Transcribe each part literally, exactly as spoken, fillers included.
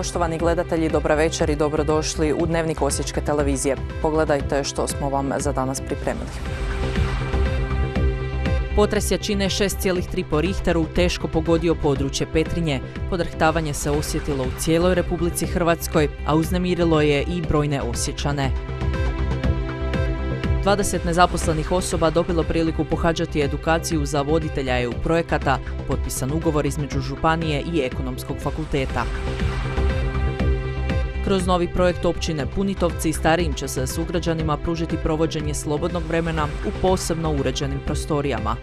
Poštovani gledatelji, dobra večer i dobrodošli u Dnevnik Osječke televizije. Pogledajte što smo vam za danas pripremili. Potres jačine šest zarez tri po Richteru teško pogodio područje Petrinje. Podrhtavanje se osjetilo u cijeloj Republici Hrvatskoj, a uznemirilo je i brojne Osječane. dvadeset nezaposlenih osoba dobilo priliku pohađati edukaciju za voditelja E U projekata, potpisan ugovor između županije i Ekonomskog fakulteta. Kroz novi projekt općine Punitovci starijim će se sugrađanima pružiti provođenje slobodnog vremena u posebno uređenim prostorijama.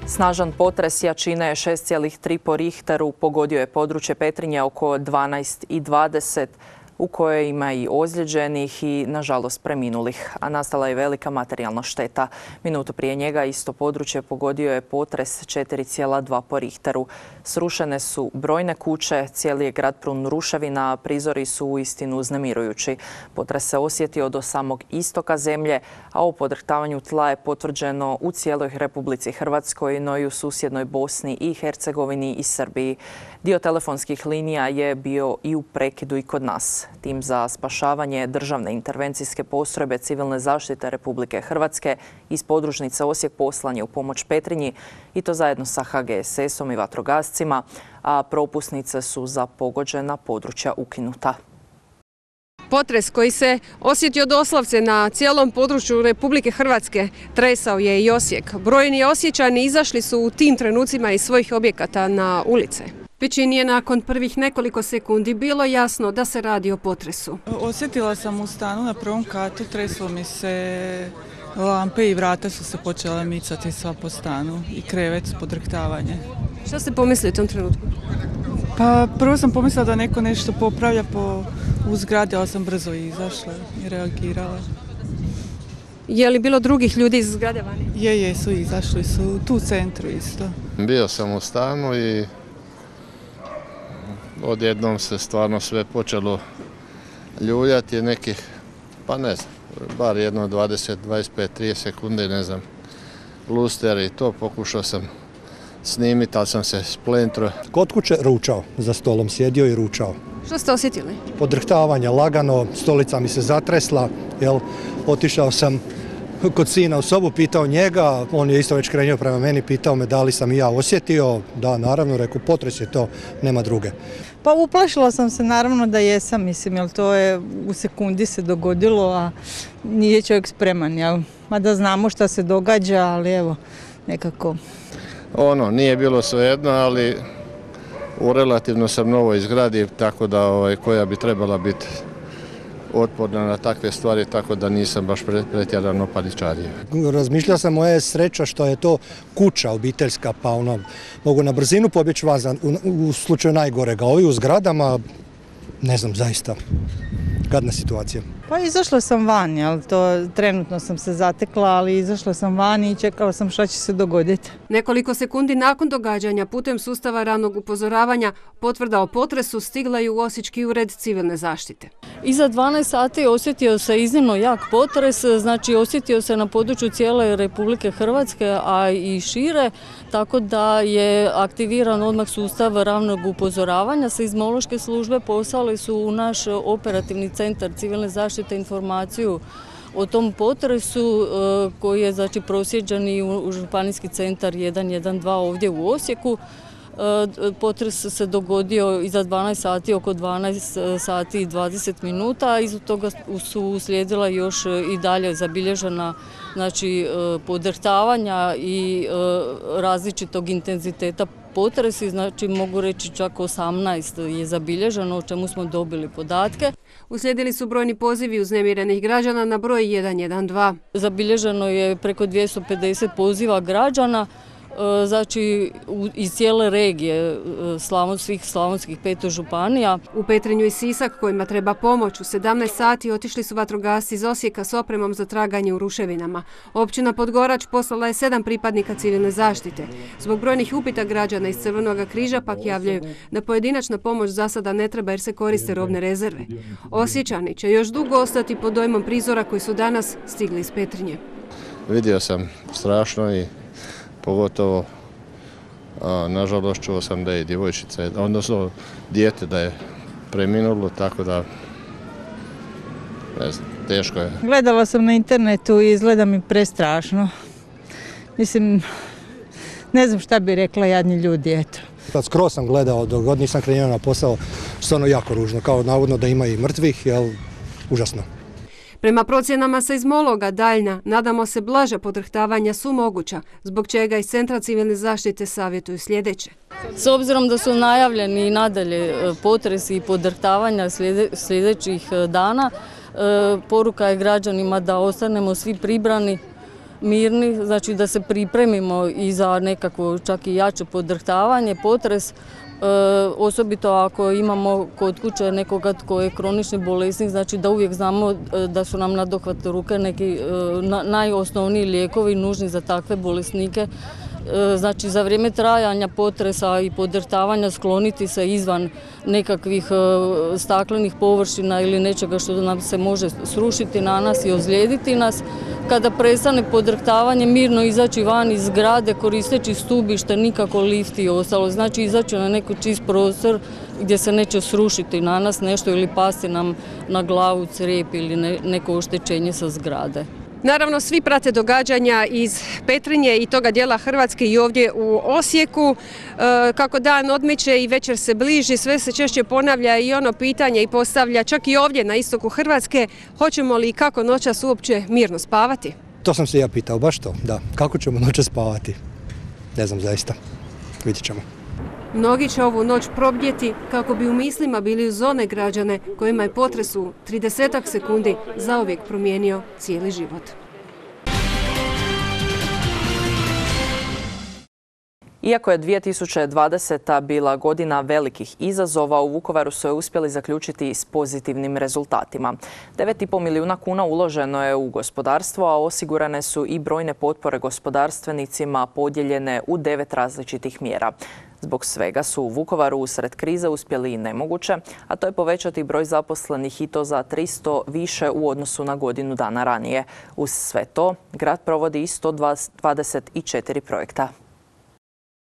Snažan potres jačine šest zarez tri po Richteru pogodio je područje Petrinje oko dvanaest i dvadeset, u kojoj ima i ozlijeđenih i, nažalost, preminulih, a nastala je velika materijalna šteta. Minutu prije njega isto područje pogodio je potres četiri zarez dva po Richteru. Srušene su brojne kuće, cijeli je grad prun ruševina, a prizori su uistinu uznemirujući. Potres se osjetio do samog istoka zemlje, a o podrhtavanju tla je potvrđeno u cijeloj Republici Hrvatskoj, no i u susjednoj Bosni i Hercegovini i Srbiji. Dio telefonskih linija je bio i u prekidu i kod nas. Tim za spašavanje državne intervencijske postrojbe civilne zaštite Republike Hrvatske iz podružnice Osijek poslan je u pomoć Petrinji, i to zajedno sa H G S S-om i vatrogascima, a propusnice su za pogođena područja ukinuta. Potres koji se osjetio doslovce na cijelom području Republike Hrvatske tresao je i Osijek. Brojni Osječani izašli su u tim trenucima iz svojih objekata na ulice. Većini je nakon prvih nekoliko sekundi bilo jasno da se radi o potresu. Osjetila sam u stanu na prvom katu, treslo mi se lampe i vrata su se počela micati sva po stanu i krevet, podrhtavanje. Šta ste pomislili u tom trenutku? Pa prvo sam pomislila da neko nešto popravlja po u zgradi, ali sam brzo izašla i reagirala. Je li bilo drugih ljudi iz zgrade vani? Je, je, su izašli, su tu u centru isto. Bio sam u stanu i odjednom se stvarno sve počelo ljuljati nekih, pa ne znam, bar jedno dvadeset, dvadeset pet, trideset sekundi, ne znam, luster i to pokušao sam snimiti, ali sam se splentro. Kod kuće ručao, za stolom sjedio i ručao. Što ste osjetili? Podrhtavanje lagano, stolica mi se zatresla, jel, otišao sam kod sina u sobu, pitao njega, on je isto već krenuo prema meni, pitao me da li sam i ja osjetio, da naravno, rekao potres je to, nema druge. Pa uplašila sam se naravno da jesam, mislim, jer to je u sekundi se dogodilo, a nije čovjek spreman, jel? Mada znamo šta se događa, ali evo, nekako. Ono, nije bilo svejedno, ali u relativno sam novoj zgradi, tako da ovaj, koja bi trebala biti otporna na takve stvari, tako da nisam baš pretjerano paničario. Razmišljao sam, moja je sreća što je to kuća obiteljska, pa ono, mogu na brzinu pobjeći van, u, u slučaju najgorega. Ovi u zgradama, ne znam, zaista, gadna situacija. Pa izašla sam van, jel, to trenutno sam se zatekla, ali izašla sam van i čekala sam šta će se dogoditi. Nekoliko sekundi nakon događanja putem sustava ranog upozoravanja potvrda o potresu stigla je u Osječki ured civilne zaštite. Iza dvanaest sati osjetio se iznimno jak potres, znači osjetio se na području cijele Republike Hrvatske, a i šire, tako da je aktiviran odmah sustav ranog upozoravanja. Seizmološke službe poslali su u naš operativni centar civilne zaštite informaciju o tom potresu koji je znači proslijeđen i u županijski centar jedan jedan dva ovdje u Osijeku. Potres se dogodio iza dvanaest sati, oko dvanaest sati i dvadeset minuta, a iza toga su uslijedila još i dalje zabilježena znači, podrhtavanja i različitog intenziteta potresi, znači mogu reći čak osamnaest je zabilježeno, o čemu smo dobili podatke. Uslijedili su brojni pozivi uznemirenih građana na broj jedan jedan dva. Zabilježeno je preko dvjesto pedeset poziva građana, znači iz cijele regije svih slavonskih pet županija. U Petrinju i Sisak, kojima treba pomoć, u sedamnaest sati otišli su vatrogasci iz Osijeka s opremom za traganje u ruševinama. Općina Podgorač poslala je sedam pripadnika civilne zaštite. Zbog brojnih upita građana iz Crvenog križa pak javljaju da pojedinačna pomoć za sada ne treba jer se koriste robne rezerve. Osječani će još dugo ostati pod dojmom prizora koji su danas stigli iz Petrinje. Vidio sam strašno i pogotovo Nažalost, čuo sam da je djevojčica, odnosno dijete da je preminulo, tako da ne znam, teško je. Gledala sam na internetu i izgleda mi prestrašno. Mislim, ne znam šta bi rekla, jadni ljudi, eto. Skroz sam gledao, dok god nisam krenuo na posao, stvarno jako ružno, kao navodno da ima i mrtvih, jel, užasno. Prema procjenama seizmologa daljna, nadamo se blaža podrhtavanja su moguća, zbog čega iz Centra civilne zaštite savjetuju sljedeće. S obzirom da su najavljeni i nadalje potresi i podrhtavanja sljedećih dana, poruka je građanima da ostanemo svi pribrani, mirni, znači da se pripremimo i za nekakvo čak i jače podrhtavanje, potres, E, osobito ako imamo kod kuće nekoga tko je kronični bolesnik, znači da uvijek znamo da su nam na dohvat ruke neki e, na, najosnovniji lijekovi nužni za takve bolesnike. E, znači za vrijeme trajanja potresa i podrhtavanja skloniti se izvan nekakvih e, staklenih površina ili nečega što nam se može srušiti na nas i ozlijediti nas. Kada prestane podrhtavanje, mirno izaći van iz zgrade koristeći stubište, nikako lift i ostalo. Znači izaći na neki čist prostor gdje se neće srušiti na nas nešto ili pasti nam na glavu crijep ili ne, neko oštećenje sa zgrade. Naravno, svi prate događanja iz Petrinje i toga dijela Hrvatske i ovdje u Osijeku. E, kako dan odmiče i večer se bliži, sve se češće ponavlja i ono pitanje i postavlja čak i ovdje na istoku Hrvatske, hoćemo li i kako noćas uopće mirno spavati? To sam se ja pitao, baš to, da. Kako ćemo noćas spavati? Ne znam zaista, vidjet ćemo. Mnogi će ovu noć probdjeti kako bi u mislima bili uz one građane kojima je potres u tridesetak sekundi zauvijek promijenio cijeli život. Iako je dvije tisuće dvadeseta bila godina velikih izazova, u Vukovaru su je uspjeli zaključiti s pozitivnim rezultatima. devet i pol milijuna kuna uloženo je u gospodarstvo, a osigurane su i brojne potpore gospodarstvenicima podijeljene u devet različitih mjera. Zbog svega su u Vukovaru usred krize uspjeli i nemoguće, a to je povećati broj zaposlenih i to za tristo više u odnosu na godinu dana ranije. Uz sve to, grad provodi i sto dvadeset četiri projekta.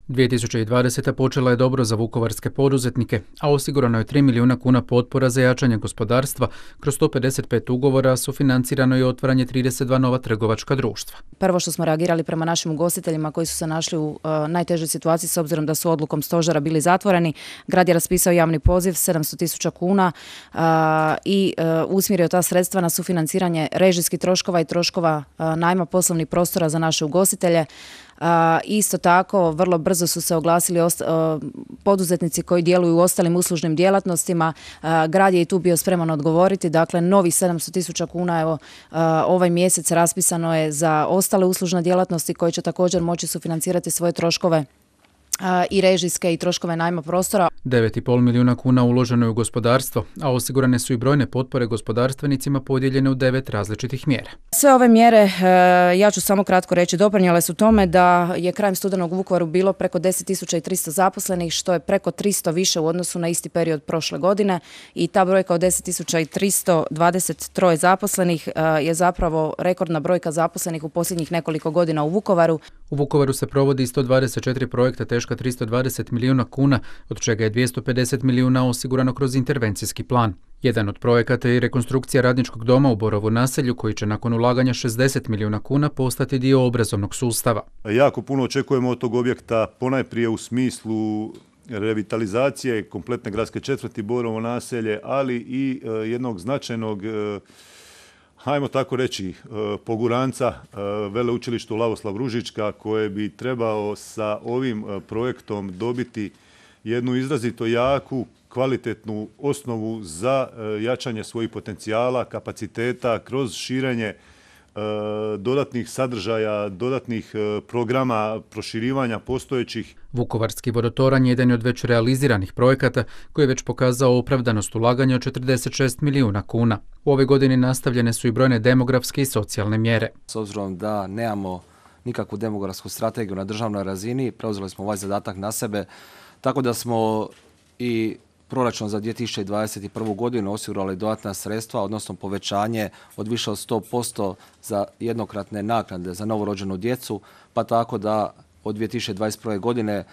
dvije tisuće dvadeseta počela je dobro za vukovarske poduzetnike, a osigurano je tri milijuna kuna potpora za jačanje gospodarstva. Kroz sto pedeset pet ugovora sufinancirano je otvaranje trideset dva nova trgovačka društva. Prvo što smo reagirali prema našim ugostiteljima koji su se našli u uh, najtežoj situaciji s obzirom da su odlukom stožera bili zatvoreni. Grad je raspisao javni poziv sedamsto tisuća kuna uh, i uh, usmjerio ta sredstva na sufinanciranje režijskih troškova i troškova uh, najma poslovnih prostora za naše ugostitelje. Uh, isto tako, vrlo brzo su se oglasili osta- uh, poduzetnici koji djeluju u ostalim uslužnim djelatnostima. Uh, grad je i tu bio spreman odgovoriti. Dakle, novih sedamsto tisuća kuna evo, uh, ovaj mjesec raspisano je za ostale uslužne djelatnosti koji će također moći sufinancirati svoje troškove i režijske i troškove najma prostora. devet i pol milijuna kuna uloženo je u gospodarstvo, a osigurane su i brojne potpore gospodarstvenicima podijeljene u devet različitih mjera. Sve ove mjere, ja ću samo kratko reći, doprinijele su tome da je krajem studenog u Vukovaru bilo preko deset tisuća tristo zaposlenih, što je preko tristo više u odnosu na isti period prošle godine i ta brojka od deset tisuća tristo dvadeset tri zaposlenih je zapravo rekordna brojka zaposlenih u posljednjih nekoliko godina u Vukovaru. U Vukovaru se provodi sto dvadeset četiri projekta teška tristo dvadeset milijuna kuna, od čega je dvjesto pedeset milijuna osigurano kroz intervencijski plan. Jedan od projekata je rekonstrukcija radničkog doma u Borovu naselju, koji će nakon ulaganja šezdeset milijuna kuna postati dio obrazovnog sustava. Jako puno očekujemo od tog objekta, ponajprije u smislu revitalizacije kompletne gradske četvrti Borovo naselje, ali i e, jednog značajnog e, hajmo tako reći, poguranca veleučilištu Lavoslav Ružička, koje bi trebao sa ovim projektom dobiti jednu izrazito jaku, kvalitetnu osnovu za jačanje svojih potencijala, kapaciteta, kroz širenje dodatnih sadržaja, dodatnih programa, proširivanja postojećih. Vukovarski vodotoranj jedan je od već realiziranih projekata koji je već pokazao opravdanost ulaganja od četrdeset šest milijuna kuna. U ove godini nastavljene su i brojne demografske i socijalne mjere. S obzirom da nemamo nikakvu demografsku strategiju na državnoj razini, preuzeli smo ovaj zadatak na sebe, tako da smo i proračun za dvije tisuće dvadeset prvu godinu osigurali dodatna sredstva, odnosno povećanje od više od sto posto za jednokratne naknade za novorođenu djecu, pa tako da od dvije tisuće dvadeset prve godine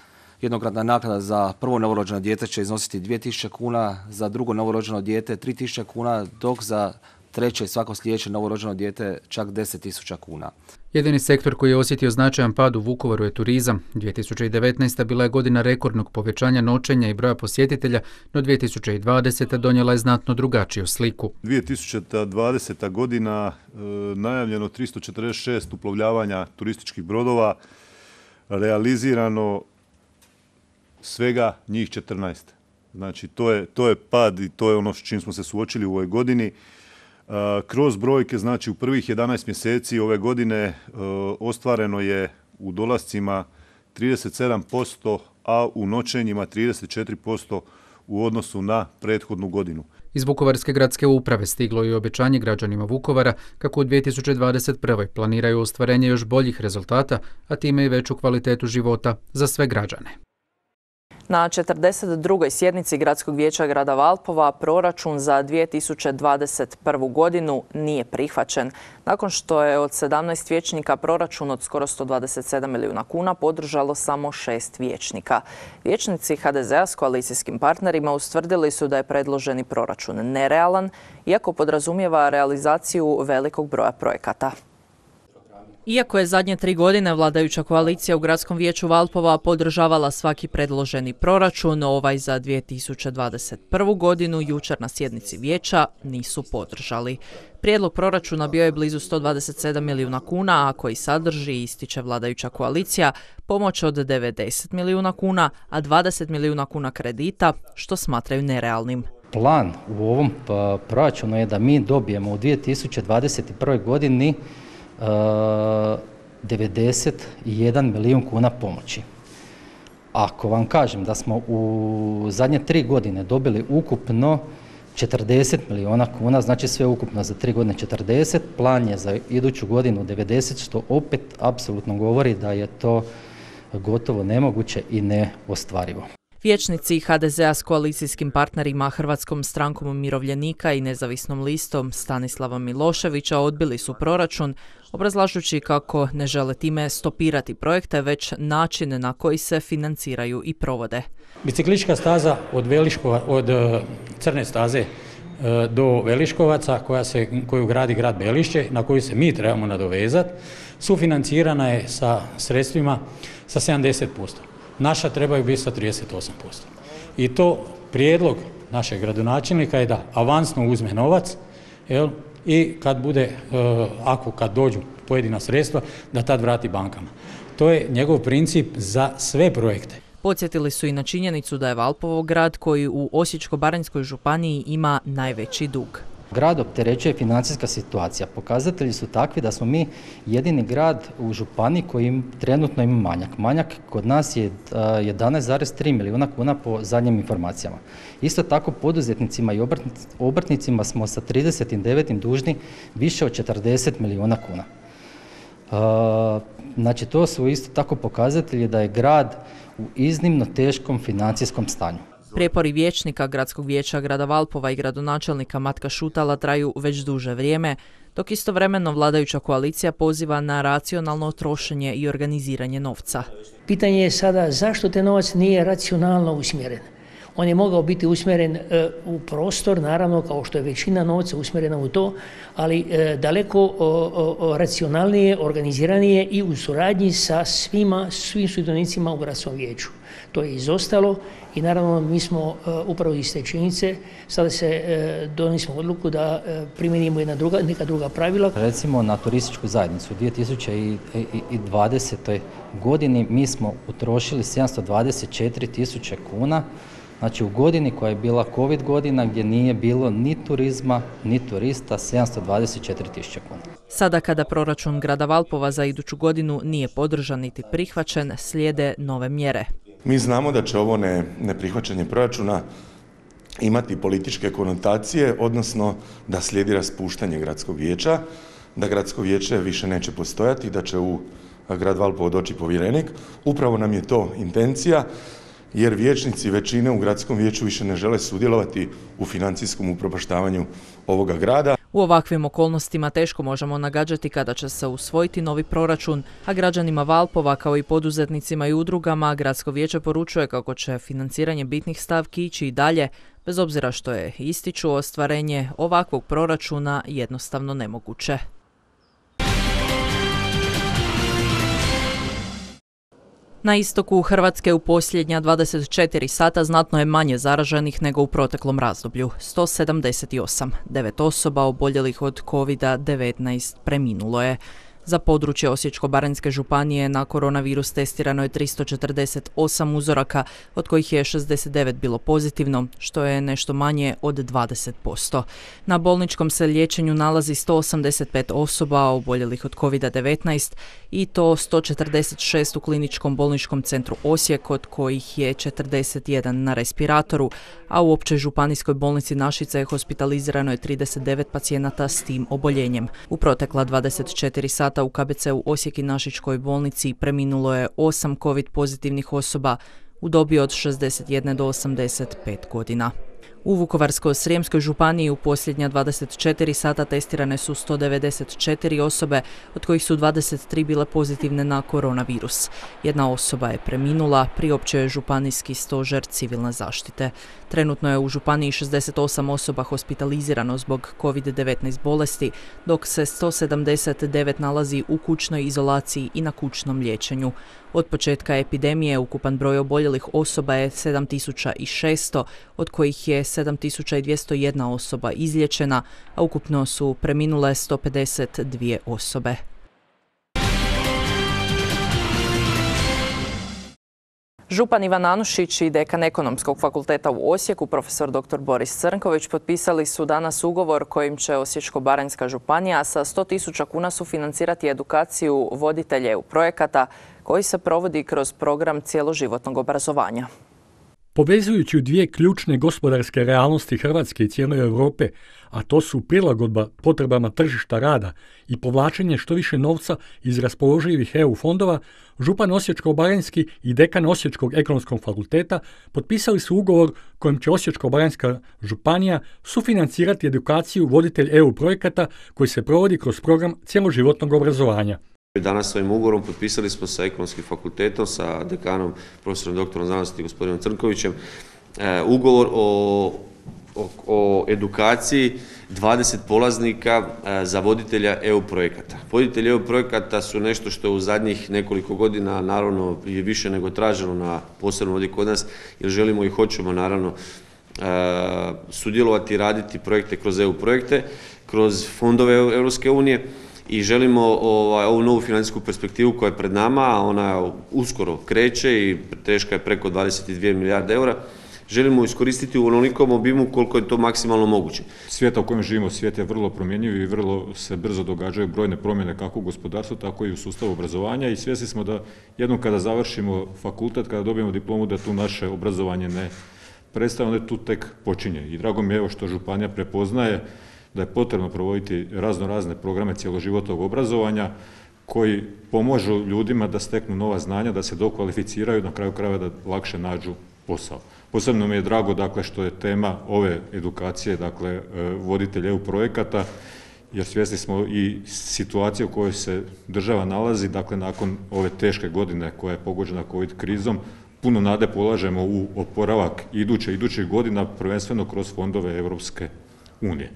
Jednokratna naknada za prvo novorođeno dijete će iznositi dvije tisuće kuna, za drugo novorođeno dijete tri tisuće kuna, dok za treće i svako sljedeće novorođeno dijete čak deset tisuća kuna. Jedini sektor koji je osjetio značajan pad u Vukovaru je turizam. dvije tisuće devetnaesta. bila je godina rekordnog povećanja noćenja i broja posjetitelja, no dvije tisuće dvadeseta. donijela je znatno drugačiju sliku. dvije tisuće dvadeseta. godina e, najavljeno tristo četrdeset šest uplovljavanja turističkih brodova, realizirano svega njih četrnaest. Znači to je, to je pad i to je ono s čim smo se suočili u ovoj godini. Kroz brojke, znači u prvih jedanaest mjeseci ove godine ostvareno je u dolascima trideset sedam posto, a u noćenjima trideset četiri posto u odnosu na prethodnu godinu. Iz Vukovarske gradske uprave stiglo je obećanje građanima Vukovara kako u dvije tisuće dvadeset prve. planiraju ostvarenje još boljih rezultata, a time i veću kvalitetu života za sve građane. Na četrdeset drugoj sjednici Gradskog vijeća grada Valpova proračun za dvije tisuće dvadeset prvu. godinu nije prihvaćen, nakon što je od sedamnaest vijećnika proračun od skoro sto dvadeset sedam milijuna kuna podržalo samo šest vijećnika. Vijećnici ha de zea s koalicijskim partnerima ustvrdili su da je predloženi proračun nerealan, iako podrazumijeva realizaciju velikog broja projekata. Iako je zadnje tri godine vladajuća koalicija u Gradskom vijeću Valpova podržavala svaki predloženi proračun, ovaj za dvije tisuće dvadeset prvu. godinu jučer na sjednici vijeća nisu podržali. Prijedlog proračuna bio je blizu sto dvadeset sedam milijuna kuna, a koji sadrži, ističe vladajuća koalicija, pomoć od devedeset milijuna kuna, a dvadeset milijuna kuna kredita, što smatraju nerealnim. Plan u ovom proračunu je da mi dobijemo u dvije tisuće dvadeset prvoj. godini devedeset jedan milijun kuna pomoći. Ako vam kažem da smo u zadnje tri godine dobili ukupno četrdeset milijuna kuna, znači sve ukupno za tri godine četrdeset, plan je za iduću godinu devedeset, što opet apsolutno govori da je to gotovo nemoguće i neostvarivo. Vijećnici ha de zea s koalicijskim partnerima Hrvatskom strankom umirovljenika i nezavisnom listom Stanislava Miloševića odbili su proračun, obrazlažući kako ne žele time stopirati projekte, već način na koji se financiraju i provode. Biciklistička staza od, Veliškova, od Crne staze do Veliškovaca, koja se, koju gradi grad Belišće, na koju se mi trebamo nadovezati, sufinancirana je sa sredstvima sa sedamdeset posto. Naša trebaju biti sa trideset osam posto. I to prijedlog našeg gradonačelnika je da avansno uzme novac, jel, i kad bude, ako kad dođu pojedina sredstva, da tad vrati bankama. To je njegov princip za sve projekte. Podsjetili su i na činjenicu da je Valpovo grad koji u Osječko-baranjskoj županiji ima najveći dug. Grad opterećuje financijska situacija. Pokazatelji su takvi da smo mi jedini grad u županiji koji trenutno ima manjak. Manjak kod nas je jedanaest zarez tri milijuna kuna po zadnjim informacijama. Isto tako poduzetnicima i obrtnicima smo sa trideset devetom dužni više od četrdeset milijuna kuna. Znači to su isto tako pokazatelji da je grad u iznimno teškom financijskom stanju. Prijepori vijećnika Gradskog vijeća grada Valpova i gradonačelnika Matka Šutala traju već duže vrijeme, dok istovremeno vladajuća koalicija poziva na racionalno trošenje i organiziranje novca. Pitanje je sada zašto te novac nije racionalno usmjeren. On je mogao biti usmjeren e, u prostor, naravno, kao što je većina novca usmjerena u to, ali e, daleko o, o, o racionalnije, organiziranije i u suradnji sa svima, svim sudionicima u gradskom vijeću. To je izostalo i naravno mi smo uh, upravo iz te činjenice sada se uh, donesimo odluku da uh, primjenimo jedna druga, neka druga pravila. Recimo na turističku zajednicu u dvije tisuće dvadesetoj. godini mi smo utrošili sedamsto dvadeset četiri tisuće kuna, znači u godini koja je bila COVID godina gdje nije bilo ni turizma ni turista, sedamsto dvadeset četiri tisuće kuna. Sada kada proračun grada Valpova za iduću godinu nije podržan niti prihvaćen, slijede nove mjere. Mi znamo da će ovo ne, neprihvaćanje proračuna imati političke konotacije, odnosno da slijedi raspuštanje gradskog vijeća, da gradsko vijeće više neće postojati, da će u grad Valpovo doći povjerenik. Upravo nam je to intencija, jer vijećnici većine u gradskom vijeću više ne žele sudjelovati u financijskom upropaštavanju ovoga grada. U ovakvim okolnostima teško možemo nagađati kada će se usvojiti novi proračun, a građanima Valpova kao i poduzetnicima i udrugama Gradsko vijeće poručuje kako će financiranje bitnih stavki ići i dalje, bez obzira što je, ističu, ostvarenje ovakvog proračuna jednostavno nemoguće. Na istoku Hrvatske u posljednja dvadeset četiri sata znatno je manje zaraženih nego u proteklom razdoblju. sto sedamdeset osam. Devet osoba oboljelih od kovid devetnaest preminulo je. Za područje Osječko-baranjske županije na koronavirus testirano je tristo četrdeset osam uzoraka, od kojih je šezdeset devet bilo pozitivno, što je nešto manje od dvadeset posto. Na bolničkom se liječenju nalazi sto osamdeset pet osoba oboljelih od kovid devetnaest i to sto četrdeset šest u Kliničkom bolničkom centru Osijek, od kojih je četrdeset jedan na respiratoru, a u Općoj županijskoj bolnici Našice hospitalizirano je trideset devet pacijenata s tim oboljenjem. U protekla dvadeset četiri sata u K B C-u Osijek i Našičkoj bolnici preminulo je osam covid pozitivnih osoba u dobi od šezdeset jedan do osamdeset pet godina. U Vukovarsko-srijemskoj županiji u posljednja dvadeset četiri sata testirane su sto devedeset četiri osobe, od kojih su dvadeset tri bile pozitivne na koronavirus. Jedna osoba je preminula, priopćio je županijski stožer civilne zaštite. Trenutno je u županiji šezdeset osam osoba hospitalizirano zbog kovid devetnaest bolesti, dok se sto sedamdeset devet nalazi u kućnoj izolaciji i na kućnom liječenju. Od početka epidemije ukupan broj oboljelih osoba je sedam tisuća šesto, od kojih je sedam tisuća dvjesto jedna osoba izliječena, a ukupno su preminule sto pedeset dvije osobe. Župan Ivan Anušić i dekan Ekonomskog fakulteta u Osijeku, profesor doktor Boris Crnković, potpisali su danas ugovor kojim će Osječko-baranjska županija sa sto tisuća kuna sufinancirati edukaciju voditelja E U projekata koji se provodi kroz program cjeloživotnog obrazovanja. Povezujući u dvije ključne gospodarske realnosti Hrvatske i cijele Europe, a to su prilagodba potrebama tržišta rada i povlačenje što više novca iz raspoloživih E U fondova, župan Osječko-baranjski i dekan Osječkog ekonomskog fakulteta potpisali su ugovor kojim će Osječko-baranjska županija sufinancirati edukaciju voditelj E U projekata koji se provodi kroz program cjeloživotnog obrazovanja. Danas ovim ugovorom potpisali smo sa Ekonomskim fakultetom, sa dekanom, profesorom doktorom znanosti gospodinom Crnkovićem, ugovor o, o, o edukaciji dvadeset polaznika za voditelja E U projekata. Voditelji E U projekata su nešto što u zadnjih nekoliko godina naravno je više nego traženo, na posebno ovdje kod nas, jer želimo i hoćemo naravno sudjelovati i raditi projekte kroz E U projekte, kroz fondove Europske unije. I želimo ovaj, ovu novu financijsku perspektivu koja je pred nama, a ona uskoro kreće i teška je preko dvadeset dvije milijarde eura, želimo iskoristiti u onolikom obimu koliko je to maksimalno moguće. Svijet u kojem živimo, svijet je vrlo promjenjiv i vrlo se brzo događaju brojne promjene kako u gospodarstvu, tako i u sustavu obrazovanja i svjesni smo da jednom kada završimo fakultet, kada dobijemo diplomu, da tu naše obrazovanje ne prestaje, onda tu tek počinje. I drago mi je evo što županija prepoznaje da je potrebno provoditi razno razne programe cjeloživotnog obrazovanja koji pomožu ljudima da steknu nova znanja, da se dokvalificiraju, na kraju krajeva da lakše nađu posao. Posebno mi je drago dakle, što je tema ove edukacije, dakle, voditelja E U projekata, jer svjesni smo i situacije u kojoj se država nalazi, dakle, nakon ove teške godine koja je pogođena COVID krizom, puno nade polažemo u oporavak iduće, idućih godina, prvenstveno kroz fondove Europske unije.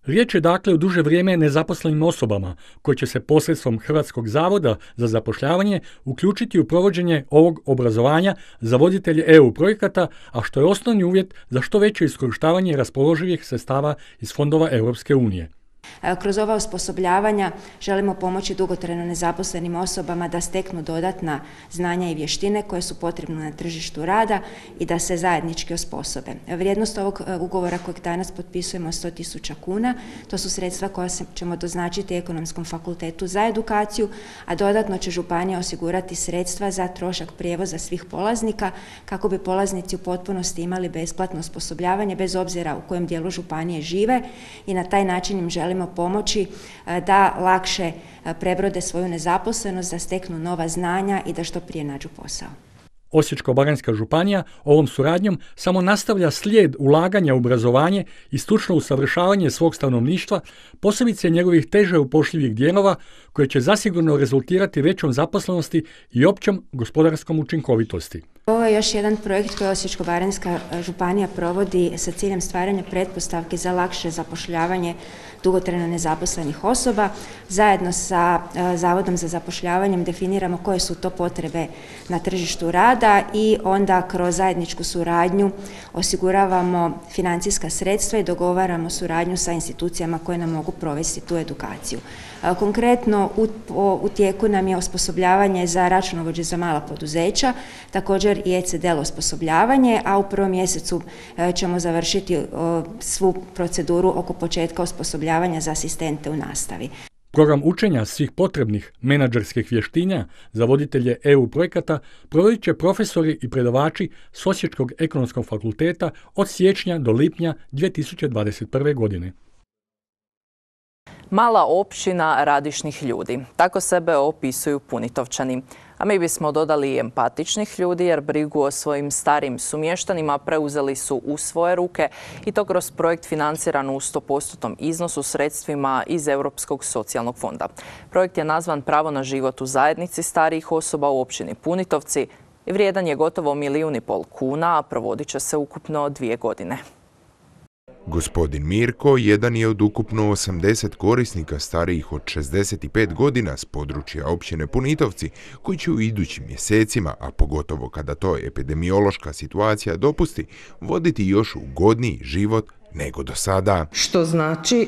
Riječ je dakle o duže vrijeme nezaposlenim osobama koji će se posredstvom Hrvatskog zavoda za zapošljavanje uključiti u provođenje ovog obrazovanja za voditelje E U projekata, a što je osnovni uvjet za što veće iskorištavanje raspoloživih sredstava iz fondova Europske unije. Kroz ova osposobljavanja želimo pomoći dugotrajno nezaposlenim osobama da steknu dodatna znanja i vještine koje su potrebne na tržištu rada i da se zajednički osposobe. Vrijednost ovog ugovora kojeg danas potpisujemo sto tisuća kuna, to su sredstva koja ćemo doznačiti Ekonomskom fakultetu za edukaciju, a dodatno će županija osigurati sredstva za trošak prijevoza svih polaznika kako bi polaznici u potpunosti imali besplatno osposobljavanje bez obzira u kojem dijelu županije žive i na taj način im želimo pomoći da lakše prebrode svoju nezaposlenost, da steknu nova znanja i da što prije nađu posao. Osječko-baranjska županija ovom suradnjom samo nastavlja slijed ulaganja u obrazovanje i stručno usavršavanje svog stanovništva, posebice njegovih teže upošljivih dijelova, koje će zasigurno rezultirati većom zaposlenosti i općom gospodarskom učinkovitosti. Ovo je još jedan projekt koji Osječko-baranjska županija provodi sa ciljem stvaranja pretpostavki za lakše zapošljavanje dugotrajno nezaposlenih osoba. Zajedno sa Zavodom za zapošljavanjem definiramo koje su to potrebe na tržištu rada i onda kroz zajedničku suradnju osiguravamo financijska sredstva i dogovaramo suradnju sa institucijama koje nam mogu provesti tu edukaciju. Konkretno u, u tijeku nam je osposobljavanje za računovođe za mala poduzeća, također i E C D L osposobljavanje, a u prvom mjesecu ćemo završiti svu proceduru oko početka osposobljavanja za asistente u nastavi. Program učenja svih potrebnih menadžerskih vještina za voditelje E U projekata provodit će profesori i predavači s Osječkog ekonomskog fakulteta od siječnja do lipnja dvije tisuće dvadeset prve. godine. Mala općina radišnih ljudi. Tako sebe opisuju Punitovčani. A mi bismo dodali i empatičnih ljudi jer brigu o svojim starim sumještanima preuzeli su u svoje ruke i to kroz projekt financiran u sto postotnom iznosu sredstvima iz Europskog socijalnog fonda. Projekt je nazvan Pravo na život u zajednici starijih osoba u općini Punitovci i vrijedan je gotovo milijun i pol kuna, a provodit će se ukupno dvije godine. Gospodin Mirko jedan je od ukupno osamdeset korisnika starijih od šezdeset pet godina s područja općine Punitovci, koji će u idućim mjesecima, a pogotovo kada to epidemiološka situacija dopusti, voditi još ugodniji život nego do sada. Što znači e,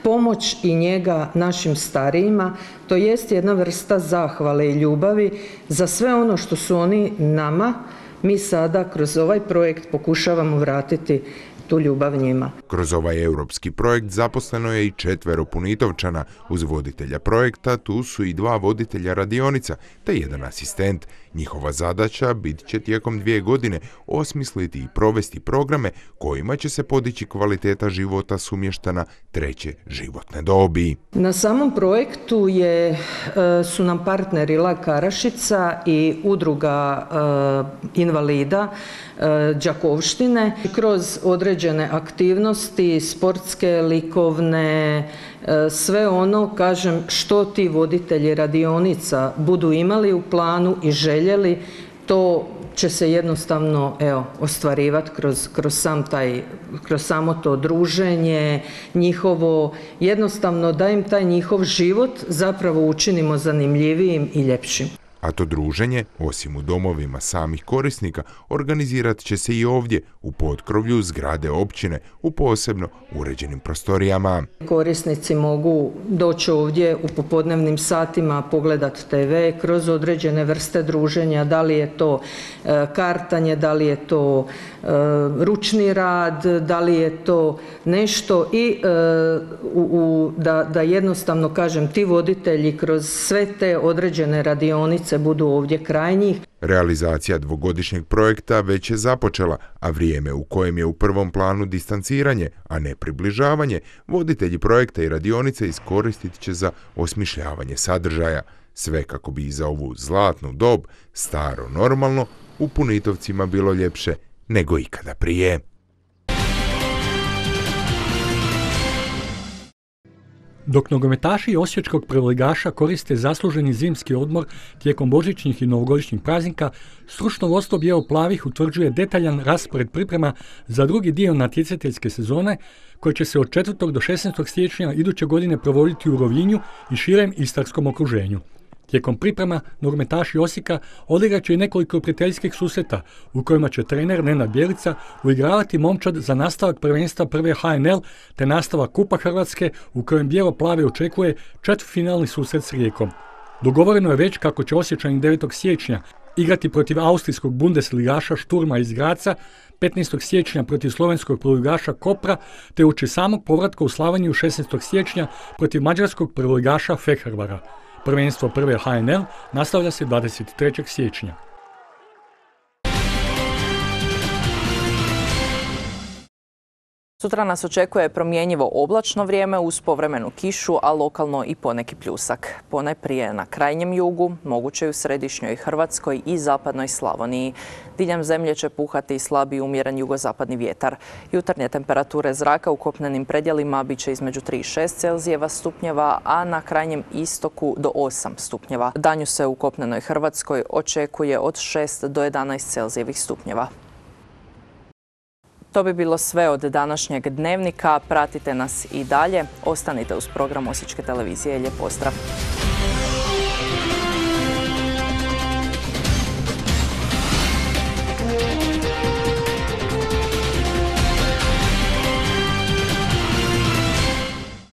pomoć i njega našim starijima, to jest jedna vrsta zahvale i ljubavi za sve ono što su oni nama, mi sada kroz ovaj projekt pokušavamo vratiti tu ljubav njima. Kroz ovaj europski projekt zaposleno je i četvero Punitovčana. Uz voditelja projekta tu su i dva voditelja radionica te jedan asistent. Njihova zadaća bit će tijekom dvije godine osmisliti i provesti programe kojima će se podići kvaliteta života sumještana treće životne dobi. Na samom projektu je, su nam partneri La Karašica i udruga invalida Đakovštine. Kroz određene aktivnosti, sportske, likovne, sve ono, kažem, što ti voditelji radionica budu imali u planu i željeli, to će se jednostavno evo, ostvarivati kroz, kroz, sam taj, kroz samo to druženje, njihovo, jednostavno da im taj njihov život zapravo učinimo zanimljivijim i ljepšim. A to druženje, osim u domovima samih korisnika, organizirat će se i ovdje, u potkrovlju zgrade općine, u posebno uređenim prostorijama. Korisnici mogu doći ovdje u popodnevnim satima, pogledati te ve kroz određene vrste druženja, da li je to e, kartanje, da li je to e, ručni rad, da li je to nešto i e, u, u, da, da jednostavno, kažem, ti voditelji kroz sve te određene radionice budu ovdje kraj njih. Realizacija dvogodišnjeg projekta već je započela, a vrijeme u kojem je u prvom planu distanciranje, a ne približavanje, voditelji projekta i radionice iskoristit će za osmišljavanje sadržaja. Sve kako bi i za ovu zlatnu dob, staro normalno, u Punitovcima bilo ljepše nego ikada prije. Dok nogometaši osječkog prvoligaša koriste zasluženi zimski odmor tijekom božićnih i novogodišnjih praznika, stručno vodstvo bijelo-plavih utvrđuje detaljan raspored priprema za drugi dio natjecateljske sezone, koji će se od četvrtog do šesnaestog siječnja iduće godine provoditi u Rovinju i širem istarskom okruženju. Tijekom priprema nogometaši Osijeka odigrat će i nekoliko prijateljskih susreta u kojima će trener Nenad Bjelica uigravati momčad za nastavak prvenstva prve H N L te nastavak Kupa Hrvatske u kojem bijelo-plave očekuje četvrtfinalni susret s Rijekom. Dogovoreno je već kako će Osječani devetog siječnja igrati protiv austrijskog Bundesligaša Šturma iz Graca, petnaestog siječnja protiv slovenskog prvoligaša Kopra te uoči samog povratka u Slavoniju šesnaestog siječnja protiv mađarskog prvoligaša Fehervara. Prvenstvo prve H N L nastavlja se dvadeset trećeg siječnja. Sutra nas očekuje promjenjivo oblačno vrijeme uz povremenu kišu, a lokalno i poneki pljusak. Ponajprije na krajnjem jugu, moguće i u središnjoj Hrvatskoj i zapadnoj Slavoniji. Diljem zemlje će puhati slabi i umjeren jugozapadni vjetar. Jutarnje temperature zraka u kopnenim predjelima bit će između tri i šest Celzijeva stupnjeva, a na krajnjem istoku do osam stupnjeva. Danju se u kopnenoj Hrvatskoj očekuje od šest do jedanaest Celzijevih stupnjeva. To bi bilo sve od današnjeg dnevnika. Pratite nas i dalje. Ostanite uz program Osječke televizije. Lijep pozdrav!